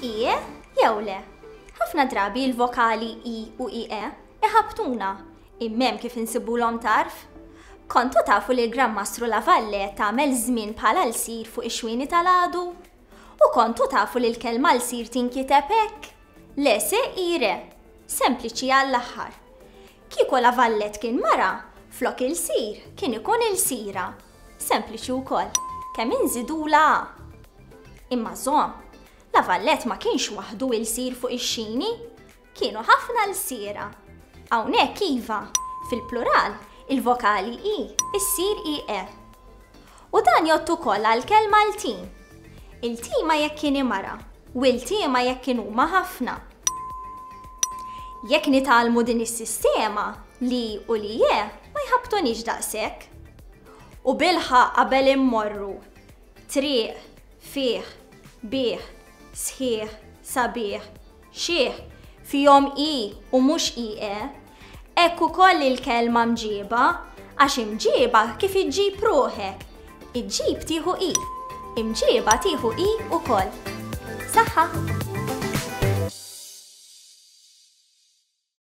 IE jew le? Ħafna drabi l-vokali I u IE iħabbtuna, imma hemm kif insibulhom tarf. Kontu tafu li l-Gran Mastru La Valle tagħmel żmien bħala lsir fuq ix-xwieni tal-għadu? U kontu tafu li l-kelma lsir tinkiteb hekk? Le se i re. Sempliċi għall-aħħar. Kieku La Vallette kien mara, flok ilsir kien ikun ilsira. Sempliċi wkoll, kemm inżidulha a. Imma żomm, La Vallette ma kienx waħdu ilsir fuq ix-xini. Kienu ħafna lsiera. Hawnhekk iva, fil-plural, il-vokali i ssir ie. U dan jgħodd ukoll għall-kelma ltim. Iltima jekk kien mara u iltiema jekk kienuma ħafna. Jekk nitgħallmu din is-sistema, li u li je ma jħabbtuniex daqshekk. U bilħaqq qabel immorru, triq, fih, bih, sħiħ, sabiħ, xiħ, fihom i u mhux ie. Hekk ukoll il-kelma mġieba, għax imġieba kif iġġib ruħek. Iġġib tieħu i, imġieba tieħu i ukoll. Saħħa!